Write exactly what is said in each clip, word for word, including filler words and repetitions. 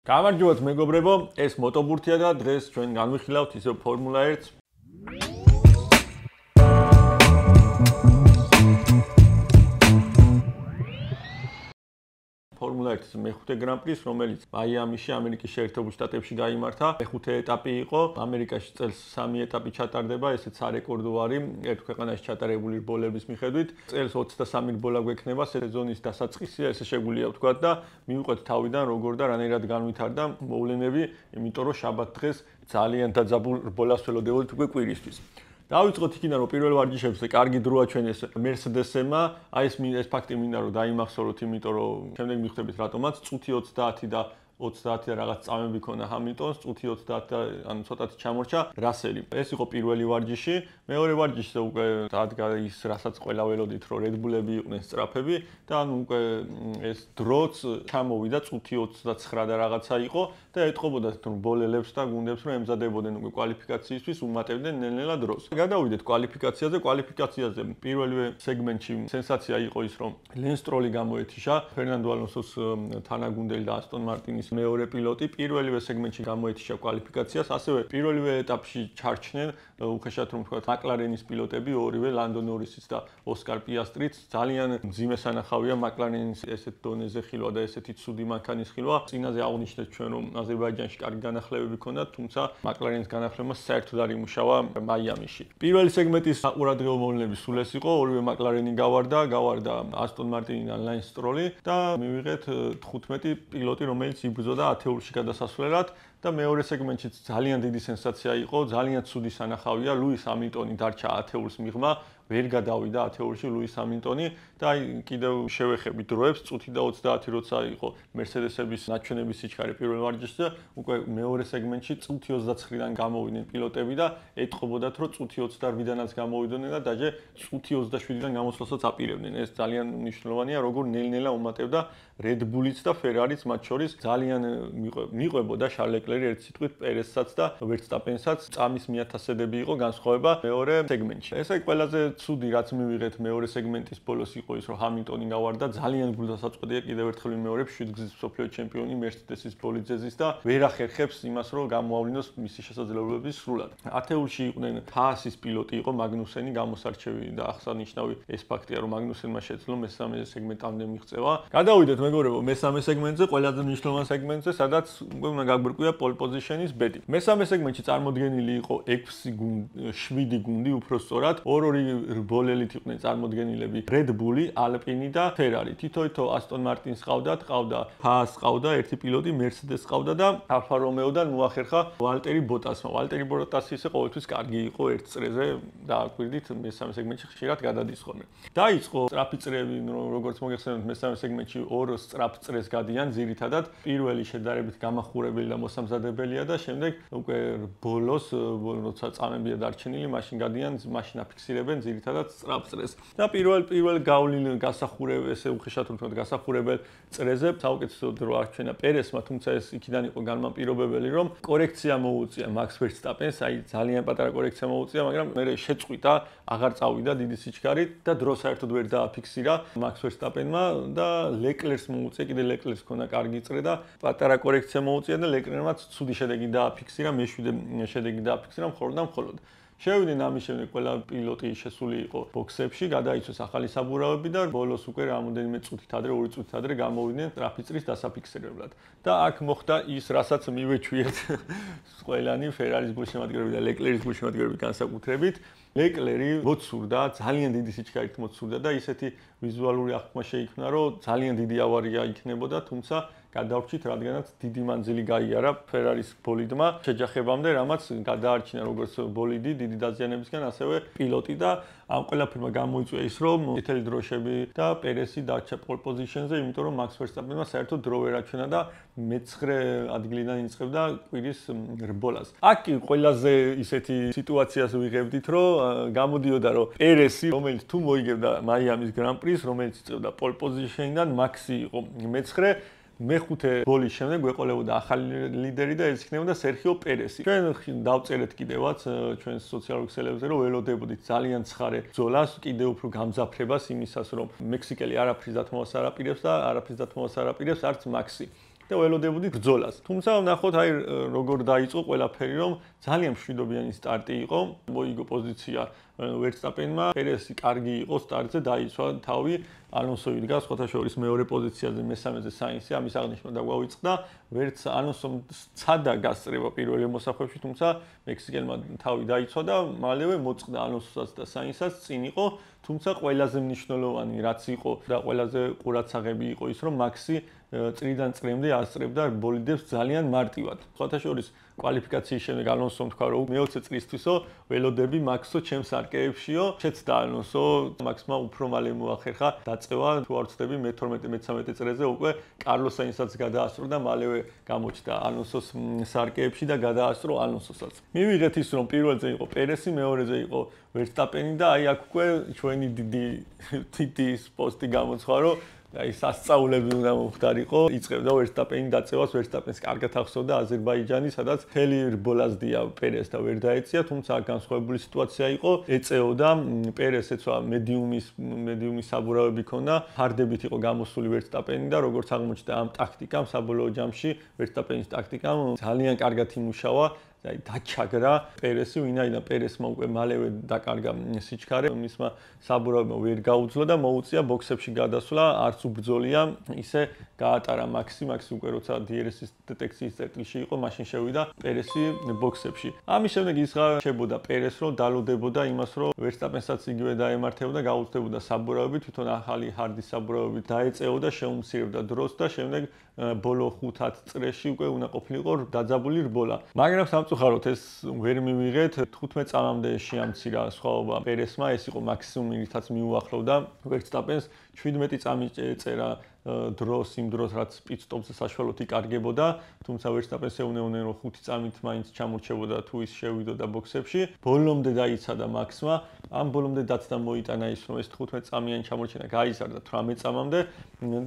გამარჯობათ მეგობრებო, ეს მოტობურთია და დღეს ჩვენ განვიხილავთ ისევ ფორმულა ერთს. ფორმულა ერთის მეხუთე გრან-პრის, რომელიც მაიამიში, ამერიკის შეერთებულ შტატებში გაიმართა. მეხუთე ეტაპი იყო. ამერიკაში წელს სამი ეტაპი ჩატარდება, ესეც სარეკორდო არის ერთ ქვეყანაში ჩატარებული რბოლების მიხედვით. წელს ოცდასამი რბოლა გვექნება, სეზონის დასაწყისია, ესე შეგვიძლია ვთქვათ და მივყვეთ თავიდან როგორ და რანაირად განვითარდა მოვლენები, იმიტომ რომ შაბათ დღეს ძალიან დაძაბულ რბოლას ველოდებოდით უკვე კვირისთვის. დავიწყოთ იქიდან რომ პირველ ვარჯიშებზე კარგი დროა ჩვენ ეს Mercedes-მა, აი ეს ეს ფაქტი მინდა რომ დაიმახსოვროთ, იმიტომ რომ შემდეგ მიხვდებით რატომაც წუთი ოცდაათი და ოცდაათი და რაღაც წამები ქონა ჰამილტონს, წუთი ოცდაათი და ანუ ცოტათი ჩამორჩა რასელი. ეს იყო პირველი ვარჯიში. მეორე ვარჯიშზე უკვე დადგა ის, რასაც ყველა ველოდით, რომ Red Bull-ები იყვნენ სწრაფები და ანუ უკვე ეს დროც ჩამოვიდა წუთი ოცდაცხრა და რაღაცა იყო და ეთყობოდათ რბოლელებს და გუნდებს რომ ემზადებოდნენ უკვე კვალიფიკაციისთვის, უმატებდნენ ნელ-ნელა დროს. გადავიდეთ კვალიფიკაციაზე. კვალიფიკაციაზე პირველივე სეგმენტში სენსაცია იყო ის, რომ Lance Stroll-ი გამოეთიშა, Fernando Alonso-ს თანაგუნდელი და Aston Martin-ის მეორე პილოტი პირველივე სეგმენტში გამოეთიშა კვალიფიკაციას, ასევე პირველივე ეტაპში ჩარჩნენ, უხეშად რომ ვთქვათ, McLaren-ის პილოტები, ორივე Lando Norris-იც და Oscar Piastrits. ძალიან მძიმე სანახავია McLaren-ის ესეთ დონეზე ხილვა და ესეთი ცუდი მანქანის ხილვა. წინაზე აღვნიშნეთ ჩვენ რომ აზერბაიჯანში კარგი განახლებები ჰქონდა, თუმცა McLaren-ის განახლებმა საერთოდ არ იმუშავა მაიამიში. პირველი სეგმენტის საყურადღებო მოვლენები სულ ეს იყო, ორივე McLaren-ი გავარდა, გავარდა Aston Martin-დან Lance Stroll-ი და მივიღეთ თხუთმეტი პილოტი, რომელიც იბრძოდა ათეულში გადასასვლელად და მეორე სეგმენტშიც ძალიან დიდი სენსაცია იყო, ძალიან ცუდი სანახავია, Lewis Hamilton-ი დარჩა ათეულს მიღმა, ვერ გადავიდა ათეულში Lewis Hamilton-ი და აი კიდევ შევეხები დროებს, წუთი და ოცდაათი როცა იყო Mercedes-ების ნაჩვენების სიჩქარე პირველ ვარჯიშზე, უკვე მეორე სეგმენტში წუთი ოცდაცხრიდან გამოვიდნენ პილოტები და ეთყობოდათ, რომ წუთი ოცდაოთხიდანაც გამოვიდნენ და დაჟე წუთი ოცდაშვიდიდან გამოსვლასაც აპირებდნენ. ეს ძალიან მნიშვნელოვანია, როგორ ნელ-ნელა უმატებდა Red Bull-იც და Ferrari-ც მათ შორის ძალიან მიყვებოდა Charles Leclerc ერთ სიტყვით Perez-საც და Verstappen-საც წამის მიათასედები იყო განსხვავება მეორე სეგმენტში. ესე ყველაზე ცუდი რაც მივიღეთ მეორე სეგმენტის ბოლოს იყო ის, რომ Hamilton-ი გავარდა, ძალიან გულდასაწყვეტია კიდევ ერთხელ ვიმეორებ შვიდგზის მსოფლიო ჩემპიონი Mercedes-ის ბოლიდზე ზის და ვერ ახერხებს იმას, რომ გამოავლინოს მისი შესაძლებლობები სრულად. ათეულში იყვნენ Haas-ის პილოტი იყო Magnuseni, გამოსარჩევი და აღსანიშნავი ეს ფაქტია, რომ Magnuseni-მა შეძლო მესამე სეგმენტამდე მიღწევა. გადავიდეთ მეგობრებო მესამე სეგმენტზე, ყველაზე მნიშვნელოვან სეგმენტზე, სადაც უკვე უნდა გაგვირკვია pole position-ის ბედი. მესამე სეგმენტში წარმოდგენილი იყო ექვსი გუნდი, შვიდი გუნდი უпростоრად, ორ-ორი რბოლელით იყვნენ წარმოდგენილები Red Bull-ი, Alpine და Ferrari. თითო-თითო Aston Martin-ს ყავდათ, ყავდა Haas, ყავდა ერთი პილოტი Mercedes ყავდა და Alfa Romeo-დან მოახერხა Valtteri Bottas-მა. Valtteri Bottas ისე ყოველთვის კარგი იყო ერთ წრეზე და აკვირდით მესამე სეგმენტში ხშირად გადადის ხოლმე. დაიწყო სწრაფი წრეები, როგორც მოგეხსენებათ მესამე სეგმენტში ორ სწრაფ წრეს გადიან ძირითადად. პირველი შედარებით გამახურებელი და მოსამზადებელია და შემდეგ უკვე ბოლოს, როცა წამებია დარჩენილი, მაშინ გადიან, მაშინ აფიქსირებენ ძირითადად სწრაფ წრეს. და პირველ პირველ გავლილ გასახურებელ, ესე უხეშად რომ ვთქვათ, გასახურებელ წრეზე საუკეთესო დრო არჩენა Perez-მა, თუმცა ეს იქიდან იყო განმაპირობებელი, რომ კორექცია მოუწია Max Verstappen-ს, აი ძალიან პატარა კორექცია მოუწია, მაგრამ მერე შეწყვიტა, აღარ წავიდა დიდი სიჩქარით და დრო საერთოდ ვერ დააფიქსირა Max Verstappen-მა და Leclerc-ს მოუწია, კიდე Leclerc-ს ქონა კარგი წრე და პატარა კორექცია მოუწია და Leclerc-მაც ცუდი შედეგი დააფიქსირა, მეშვიდე შედეგი დააფიქსირა მხოლოდ და მხოლოდ. შევიდნენ ამის შემდეგ ყველა პილოტი შესული იყო ბოქსებში, გადაიცვეს ახალი საბურავები და ბოლოს უკვე რამოდენიმე წუთით ადრე, ორი წუთით ადრე გამოვიდნენ სწრაფი წრის დასაფიქსირებლად. და აქ მოხდა ის, რასაც მივეჩვიეთ ყველანი Ferrari-ის გულშემატკივრები და Leclerc-ის გულშემატკივრები განსაკუთრებით. Leclerc-ი მოცურდა, ძალიან დიდი სიჩქარით მოცურდა და ისეთი ვიზუალური აღქმა შეიქმნა, რომ ძალიან დიდი ავარია იქნებოდა, თუმცა გადავრჩით, რადგანაც დიდი მანძილი გაიარა Ferrari-ის ბოლიდმა შეჯახებამდე, რამაც გადაარჩინა როგორც ბოლიდი დიდი დაზიანებისგან, ასევე პილოტი და ამ ყველაფერმა გამოიწვია ის, რომ წითელი დროშები და Perez-ი დარჩა pole position-ზე, იმიტომ რომ Max Verstappen-მა საერთოდ დრო ვერ აჩვენა და მეცხრე ადგილიდან იწყებდა კვირის რბოლას. აქ ყველაზე ისეთი სიტუაციას ვიღებდით, რომ გამოდიოდა, რომ Perez-ი, რომელიც თუ მოიგებდა მაიამის გრან-პრის, რომელიც იწყებდა pole position-დან, Max-ი იყო მეცხრე, მეხუთე ბოლის შემდეგ გვეყოლებოდა ახალი ლიდერი და ეს იქნებოდა Sergio Perez-ი. ჩვენ დავწერეთ კიდევაც ჩვენს სოციალურ ქსელებზე, რომ ველოდებოდით ძალიან ცხარე ბრძოლას, კიდევ უფრო გამძაფრებას იმისას, რომ მექსიკელი არაფრის დათმოვას არ აპირებს და არაფრის დათმოვას არ აპირებს არც Max-ი. და ველოდებოდით ბრძოლას. თუმცა ნახოთ აი როგორ დაიწყო ყველაფერი, რომ ძალიან მშვიდობიანი სტარტი იყო, მოიგო პოზიცია ვერსტაპენმა, პერესი კარგი იყო სტარტზე, დაიცვა თავი, ალონსო იდგა სხვათა შორის მეორე პოზიციაზე, მესამეზე საინსი, ამის აღნიშვნა დაგვავიწყდა, ვერც ალონსომ ცადა გასწრება პირველ მოსახვევში, თუმცა მექსიკელმა თავი დაიცვა და მალევე მოწყდა ალონსოსაც და საინსაც წინ იყო, თუმცა ყველაზე მნიშვნელოვანი რაც იყო და ყველაზე ყურადსაღები იყო ის, რომ მაქსი წრიდან წრემდე ასწრებდა ბოლიდებს ძალიან მარტივად. სხვათა შორის კვალიფიკაციის შემდეგ ალონსომ თქვა, რომ მეოცე წლისთვისო ველოდები მაქსო ჩემს არკეებშიო, შეცდა ალონსო, მაქსმა უფრო მალე მოახერხა დაწევა, თუ არ ვცდები მეთორმეტე მეთერთმეტე წრეზე უკვე კარლოს საინსაც გადაასწრო და მალევე გამოჩნდა ალონსოს სარკეებში და გადაასწრო ალონსოსაც. მივიღეთ ის, რომ პირველზე იყო პერესი, მეორეზე იყო ვერსტაპენი და აი აქ უკვე ჩვენი დიდი დიდი პოსტი გამოცხვა, რომ აი სასწაულები უნდა მოხდარიყო, იწყებდა ვერსტაპენი დაწევას, ვერსტაპენს კარგად ახსოვდა აზერბაიჯანი, სადაც მთელი რბოლაზდია პერეს და ვერ დაეწია, თუმცა განსხვავებული სიტუაცია იყო, ეწეოდა პერეს ეცვა მედიუმის მედიუმის საბურავები ქონდა, ფარდებით იყო გამოსული ვერსტაპენი და როგორც აღმოჩნდა ამ ტაქტიკამ საბოლოო ჯამში ვერსტაპენის ტაქტიკამ ძალიან კარგად იმუშავა აი დაჩაგრა პერესი, ვინაიდან პერესმა უკვე მალევე დაკარგა სიჩქარე, მისმა საბურავებმა ვერ გაუძლო და მოუწია ბოქსებში გადასვლა, არც უბრძოლია, ისე გაატარა მაქსი, მაქსი უკვე როცა დი არ ეს-ის დეტექციის წერტილში იყო, მაშინ შევიდა პერესი ბოქსებში. ამის შემდეგ ის ღარშებოდა პერეს, რომ დალოდებოდა იმას, რომ ვერსტაპენსაც იგივე დაემართებოდა, გაუწდებოდა საბურავები, თვითონ ახალი ჰარდის საბურავებით დაეწეოდა, შეუმცირებდა დროს და შემდეგ ბოლო ხუთ-ათ წრეში უკვე უნდა ყოფილიყო დაძაბული რბოლა. მაგრამ სამწუხაროდ ეს ვერ მივიღეთ, თხუთმეტ წამამდე შეამცირა სხვაობა პერესმა, ეს იყო მაქსიმუმი, რითაც მიუახლოვდა ვერსტაპენს, შვიდმეტი წამი წერა დროს იმ დროს რაც პიტსტოპზე საშუალოდ იკარგებოდა, თუმცა ვერსტაპენს ეუნეოდნენ რომ ხუთი წამით მაინც ჩამორჩებოდა თუ ის შევიდოდა ბოქსებში. ბოლომდე დაიცადა მაქსმა, ამ ბოლომდე დაცდა მოიტანა ის რომ ეს თხუთმეტ წამიანი ჩამორჩენა გაიზარდა თვრამეტ წამამდე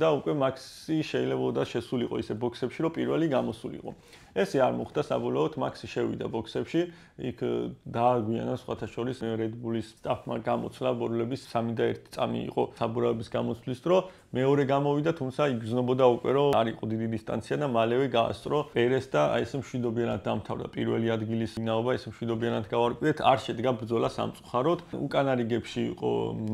და უკვე მაქსი შეიძლებოდა შესულიყო ისე ბოქსებში რომ პირველი გამოსულიყო. ესე არ მოხდა საბოლოოდ მაქსი შევიდა ბოქსებში, იქ დააგვიანა სხვათა შორის Red Bull-ის სტაფმა გამოცლა ბორლების სამი და ერთი წამი იყო საბურავების გამოცვლის დრო, მეორე გამოვიდა, თუმცა იგრძნობოდა უკვე რომ არ იყო დიდი დისტანცია და მალევე გაასწრო პერეს და აი ეს მშვიდობიანად დამთავრდა პირველი ადგილის ვინაობა, ეს მშვიდობიანად გავარკვიეთ, არ შედგა ბრძოლა სამწუხაროდ, უკანა რიგებში იყო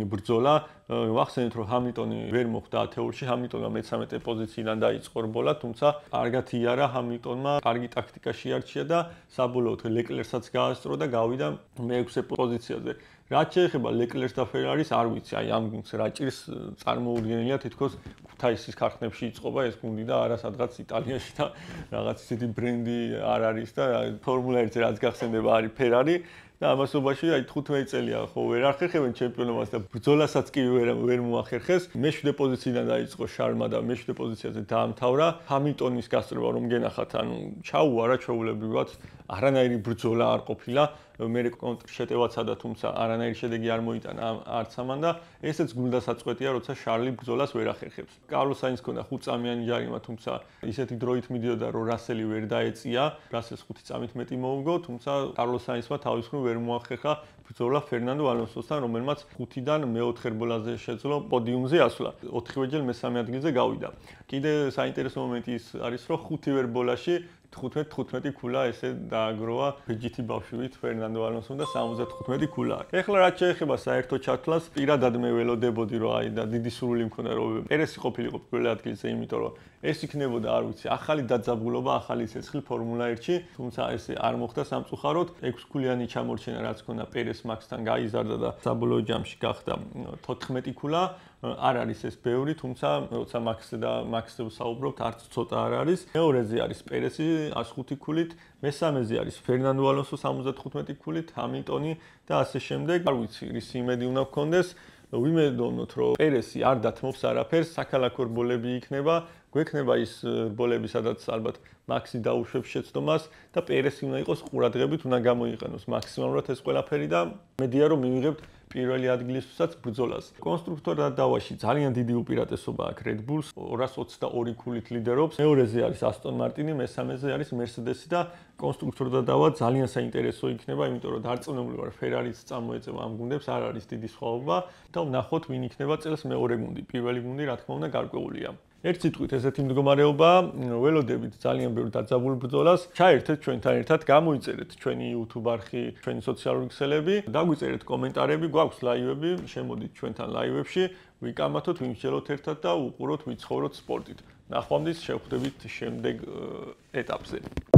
ბრძოლა, ვახსენეთ რომ ჰამილტონი ვერ მოხვდა ათეულში, ჰამილტონმა მესამე პოზიციიდან დაიწყო რბოლა, თუმცა კარგად იარა ჰამილტონმა, კარგი ტაქტიკა შეარჩია და საბოლოოდ ლეკლერსაც გაასწრო და გავიდა მეექვსე პოზიციაზე. რაც შეეხება ლეკლერს და ფერარის, არ ვიცი, აი ამ გუნდს რა ჭირს წარმოუდგენელია თითქოს ქუთაისის ქარხნებში იწყობა ეს გუნდი და არა სადღაც იტალიაში და რაღაც ისეთი ბრენდი არ არის და ფორმულა ერთზე რაც გახსენდება არის ფერარი და ამასობაში აი თხუთმეტი წელია ხო ვერ ახერხებენ ჩემპიონობას და ბრძოლასაც კი ვერ ვერ მოახერხეს. მეშვიდე პოზიციიდან დაიწყო შარმა და მეშვიდე პოზიციაზე დაამთავრა. ჰამილტონის გასწრება რომ გენახათ, ანუ ჩაუარა ჩვეულებრივად, არანაირი ბრძოლა არ ყოფილა. მე კონტრშეტევაცა და თუმცა არანაირი შედეგი არ მოიტანა არც ამან და ესეც გუნდას აწყვეტია, როცა შარლი ბრძოლას ვერ ახერხებს. კარლოს საინს ქონდა ხუთ წამიანი ჯარიმა, თუმცა ისეთი დროით მიდიოდა, რომ რასელი ვერ დაეწია, რასელს ხუთი წამით მეტი მოუგო, თუმცა კარლოს საინსმა თავის მხრივ ვერ მოახერხა ბრძოლა ფერნანდო ალონსოსთან, რომელმაც ხუთიდან მეოთხე რბოლაზე შეძლო პოდიუმზე ასვლა. ოთხივეჯერ მესამე ადგილზე გავიდა. კიდე საინტერესო მომენტი ის არის, რომ ხუთივე რბოლაში თხუთმეტ თხუთმეტი ქულა ესე დააგროვა ბიჯითი ბავშვით ფერნანდო ალონსომ და სამოცდათხუთმეტი ქულა. ეხლა რაც შეეხება საერთო ჩათვლას, პირადად მე ველოდებოდი რომ აი და დიდი სურვილი მქონდა რომ პერესი ყოფილიყო პირველ ადგილზე, იმიტომ რომ ეს იქნებოდა, არ ვიცი, ახალი დაძაბულობა, ახალი ცეცხლი ფორმულა ერთში, თუმცა ესე არ მოხდა სამწუხაროდ. ექვსქულიანი ჩამორჩენა რაც ქონდა პერეს მაქსთან გაიზარდა და საბოლოო ჯამში გახდა თოთხმეტი ქულა. არ არის ეს ბევრი, თუმცა როცა მაქსზე და მაქსზე ვსაუბრობთ, არც ცოტა არ არის. მეორეზე არის პერესი ას ხუთი ქულით, მესამეზე არის ფერნანდო ალონსო სამოცდათხუთმეტი ქულით, ჰამილტონი და ასე შემდეგ. არ ვიცი, რის იმედი უნდა გქონდეს, ვიმედოვნოთ, რომ პერესი არ დათმობს არაფერს, საქალაქო რბოლები იქნება, გვექნება ის რბოლები, სადაც ალბათ მაქსი დაუშვებს შეცდომას და პერესი უნდა იყოს ყურადღებით, უნდა გამოიყენოს მაქსიმალურად ეს ყველაფერი და მედია რომ მივიღებთ პირველი ადგილისთვისაც ბრძოლას. კონსტრუქტორთა დავაში ძალიან დიდი უპირატესობა აქვს Red Bulls, ორას ოცდაორი ქულით ლიდერობს. მეორეზე არის Aston Martin, მესამეზე არის Mercedes და კონსტრუქტორთა დავა ძალიან საინტერესო იქნება, იმიტომ რომ დარწმუნებული ვარ Ferrari-ც წამოეწევა ამ გუნდებს, არ არის დიდი სხვაობა და ვნახოთ ვინ იქნება წელს მეორე გუნდი. პირველი გუნდი რა თქმა უნდა გარკვეულია. ერთ სიტყვით ესეთი მდგომარეობა, ველოდებით ძალიან ბევრ დაძაბულ ბრძოლას. ჩაერთეთ ჩვენთან ერთად, გამოიწერეთ ჩვენი YouTube არხი, ჩვენი სოციალური ქსელები, დაგვიწერეთ კომენტარები, გვაქვს ლაივები, შემოდით ჩვენთან ლაივებში, ვიკამათოთ, ვიმსჯელოთ ერთად და უყუროთ, ვიცხოვროთ სპორტით. ნახვამდის, შევხვდებით შემდეგ ეტაპზე.